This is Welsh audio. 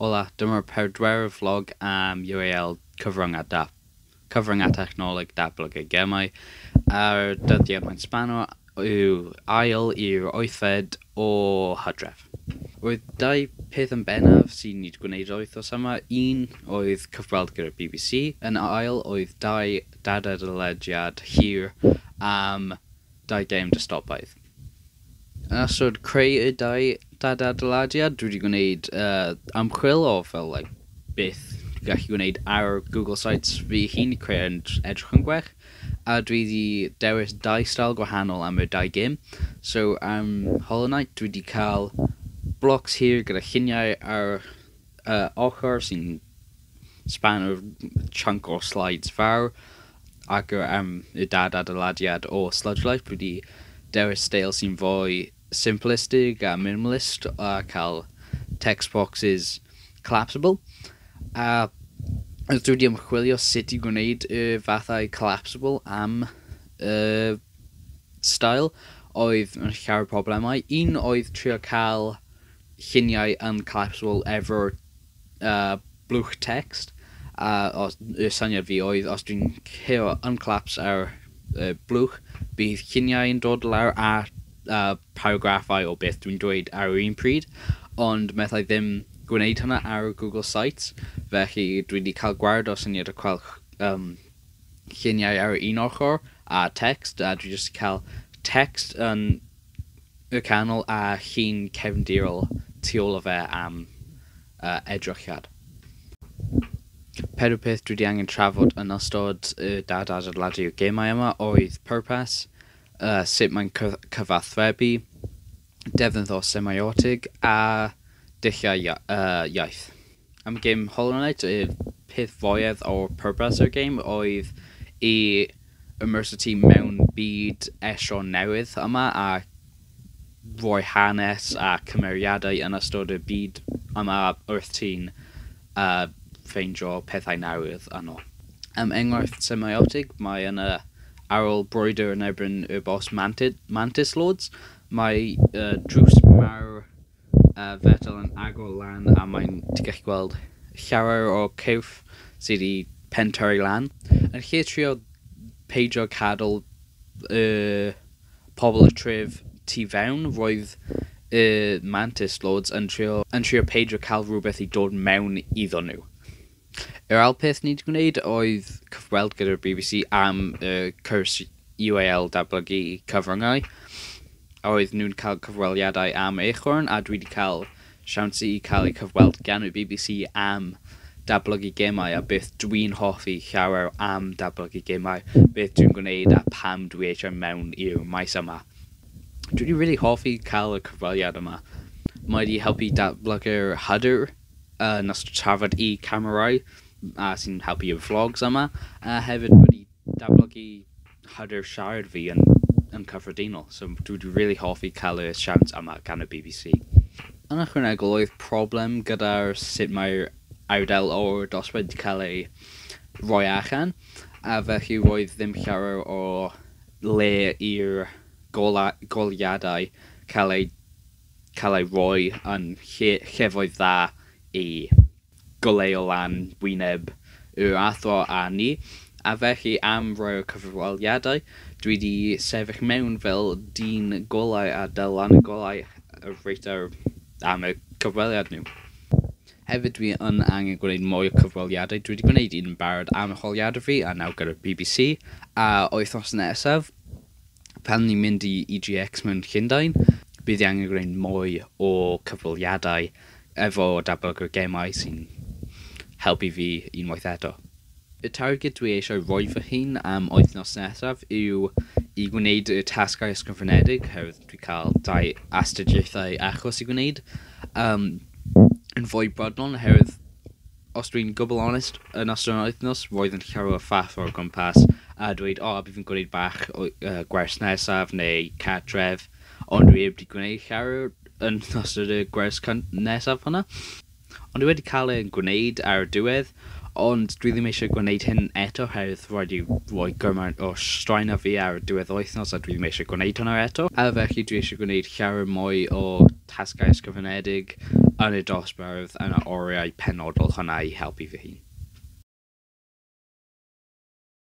Hola, dyma'r pedwerydd vlog am UAL cyfryngau technoleg datblygu gemau, a'r dyddiad mae'n sbano yw ail i'r 8fed o Hydref. Roedd dau peth yn bennaf sy'n ni wedi gwneud yr wythnos yma. Un oedd cyfweld gyda'r BBC, yn ail oedd dau dadadeiladiad hir am dau gêm dystopaidd. Yn ystod creu y dau dadadeiladiad, dwi wedi gwneud ymchwil o fel like, beth dwi'n gallu gwneud ar Google Sites fi hun i creu yn edrych yn gwell, a dwi wedi dewis dau style gwahanol am y dau gêm. So am Hollow Knight dwi wedi cael blocks hir gyda lluniau ar ochr sy'n span o chunk o slides fawr, ac am y dadadeiladiad o Sludge Life dwi wedi dewis steil sy'n fwy simplistic a minimalist a cael text boxes collapsible. A dwi wedi ymchwilio sut i gwneud y fathau collapsible am y style, oedd yn llawer problemau. Un oedd trio cael lluniau yn collapsible efo'r blwch text, a y syniad fi oedd os dwi'n cael uncollapse ar y blwch, bydd lluniau yn dod lawr a paragraffau o beth dwi'n dweud ar yr un pryd, ond methau ddim gwneud hynna ar Google Sites, felly dwi wedi cael gwared o syniad o cael lluniau ar un ochr a text, a dwi jyst cael text yn y canol a llun cefndirol tu ôl o fe am edrychiad. Pedwar peth dwi wedi angen trafod yn ystod y dadadeiladu gemau yma oedd pwrpas, sut mae'n cyfathrebu, defnydd o semiotig a dulliau iaith. Am gêm Hollow Knight, y peth fwyaf o'r pwrpas o'r gêm oedd i immerse ti mewn byd estron newydd yma a rhoi hanes a cymeriadau yn ystod y byd yma wrth ti'n ffeindio pethau newydd yno. Am enghraifft semiotig, mae yna ar ôl brwydr yn erbyn y boss Mantis Lords, mae drws mawr fetel yn agor lan a mae'n ti'n gallu gweld llawer o cyrff sydd wedi pentyrru lan. Yn lle trio peidio cadw y pobl y tref tu fewn, roedd y Mantis Lords yn trio peidio cael rhywbeth i dod mewn iddo nhw. Yr ail peth ni wedi gwneud oedd cyfweld gyda'r BBC am y cwrs UAL datblygu cyfryngau. Oedd nhw'n cael cyfweliadau am Acorn, a dwi wedi cael siawns i cael ei cyfweld gan y BBC am datblygu gemau a beth dwi'n hoffi llawer am datblygu gemau, beth dwi'n gwneud a pam dwi eisiau mewn i'r maes yma. Dwi wedi really hoffi cael y cyfweliad yma. Mae wedi helpu datblygu'r hyder yn ystod trafod i camerau a sy'n helpu y vlogs yma, a hefyd wedi datblygu hyder siarad fi yn cyffredinol. So dwi wedi really hoffi cael y siawns yma gan y BBC. Yn ychwanegol oedd problem gyda'r sut mae'r ardal o'r dosbarth wedi cael ei roi allan, a felly roedd ddim llawer o le i'r goleuadau cael ei roi yn llefoedd dda i goleuo lan wyneb yr athro a ni, a felly am roi o'r cyfweliadau dwi wedi sefyll mewn fel dyn golau a dal lan y golau reit ar am y cyfweliad nhw. Hefyd dwi yn angen gwneud mwy o cyfweliadau. Dwi wedi gwneud un yn barod am arholiadau fi a nawr gyda'r BBC, a wythnos nesaf pan ni'n mynd i EGX mewn Llundain, bydd i angen gwneud mwy o cyfweliadau efo datblygwr gemau sy'n helpu fi unwaith eto. Y targed dwi eisiau rhoi fy hun am wythnos nesaf yw i gwneud y tasgau ysgrifenedig, oherwydd dwi'n cael dau astudiaethau achos i gwneud, yn fwy brydlon, oherwydd os dwi'n gwbl onest, yn ystod yr wythnos roedd yn llawer o ffaff o'r gwmpas a dweud, o, bydd fi'n gwneud bach o gwers nesaf neu cartref, ond dwi heb wedi gwneud llawer yn ystod y gwers nesaf hwnna. Ond dwi wedi cael e'n gwneud ar y diwedd, Ond dwi ddim eisiau gwneud hyn eto oherwydd rhaid i roi gymaint o straen ar fi ar y diwedd wythnos a dwi ddim eisiau gwneud hwnna eto. A felly dwi eisiau gwneud llawer mwy o tasgau ysgrifenedig yn y dosbarth yn y oriau penodol hwnna i helpu fy hun.